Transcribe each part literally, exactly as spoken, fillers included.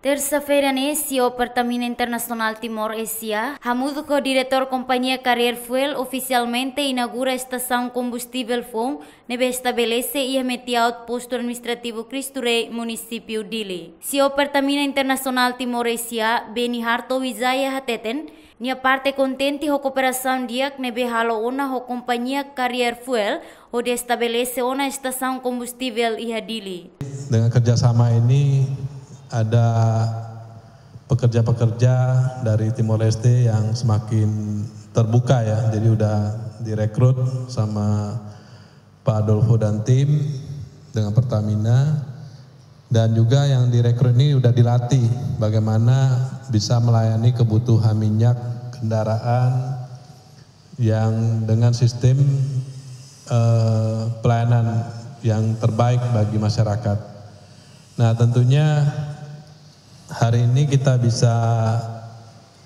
Tersa-feira ne'e, C E O Pertamina Internasionál Timor S A, hamutuk ho diretór kompañia Carrier Fuel, ofisialmente inaugura estasaun kombustivel foun ne'ebé estabelese iha Metiaut, Postu Administrativu Cristo Rei, Munisípiu Dili. C E O Pertamina Internasionál Timor S A, Beni Harto Wijaya, hateten nia parte kontente ho kooperasaun di'ak ne'ebé halo ona ho kompañia Carrier Fuel hodi estabelese ona estasaun kombustivel iha Dili. Dengan kerjasama ini, ada pekerja-pekerja dari Timor Leste yang semakin terbuka, ya. Jadi udah direkrut sama Pak Adolfo dan tim dengan Pertamina. Dan juga yang direkrut ini udah dilatih bagaimana bisa melayani kebutuhan minyak kendaraan yang dengan sistem, eh, pelayanan yang terbaik bagi masyarakat. Nah, tentunya hari ini kita bisa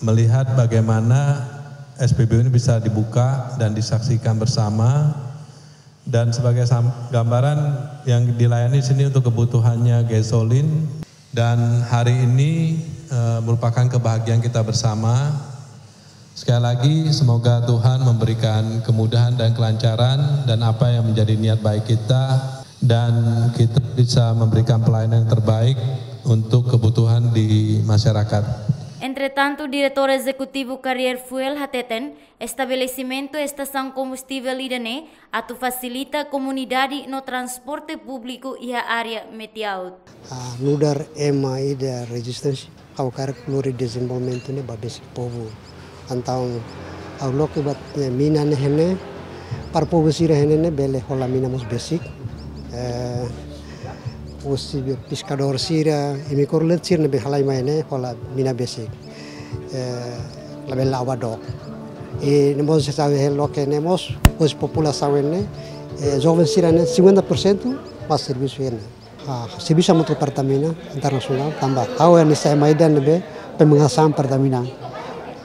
melihat bagaimana S P B U ini bisa dibuka dan disaksikan bersama. Dan sebagai sam-, gambaran, yang dilayani sini untuk kebutuhannya gasolin. Dan hari ini, eh, merupakan kebahagiaan kita bersama. Sekali lagi, semoga Tuhan memberikan kemudahan dan kelancaran dan apa yang menjadi niat baik kita, dan kita bisa memberikan pelayanan yang terbaik untuk kebutuhan di masyarakat. Entretantu, Diretór Ezekutivu Carrier Fuel hateten, estabelesimentu estasaun kombustivel ida-ne'e atu fasilita komunidade no transporte públiku iha área Metiaut. Ah, nu'udar ema ida rezisténsia, ha'u hakarak lori dezenvolvimentu ne'e ba besik povu. Entaun ha'u loke ba, eh, mina ne'e iha ne'e, para povu sira iha ne'e bele hola mina mós besik. Eh, husi be peskadór sira, imi kor let sira ne'ebé halai mai ne'e hola mina besik. Eh, labele la'o ba dook. I ne'e mós se sabe hel loke ne'e mós, husi populasaun ne'e, eh, joven sira ne'e cinquenta por cento ba servisu iha ne'e. Ah, servisu hamutuk ho Pertamina Internasionál, tanba ha'u hanesan ema ida ne'ebé pemegang saham Pertamina.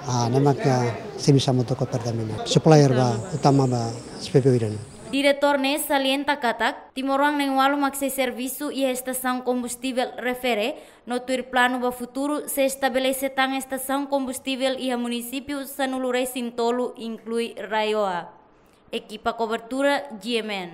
Ah, ne'e maka servisu hamutuk ho Pertamina. Supplier ba utama ba S P B U ida-ne'e. Diretór ne'e salienta katak, timoroan na'in-ualu mak sei servisu iha estasaun kombustivel refere, no tuir planu ba futuru sei estabelese tan estasaun kombustivel iha munisípiu sanulu-resin-tolu, inklui RAEOA. Ekipa kobertura G M N.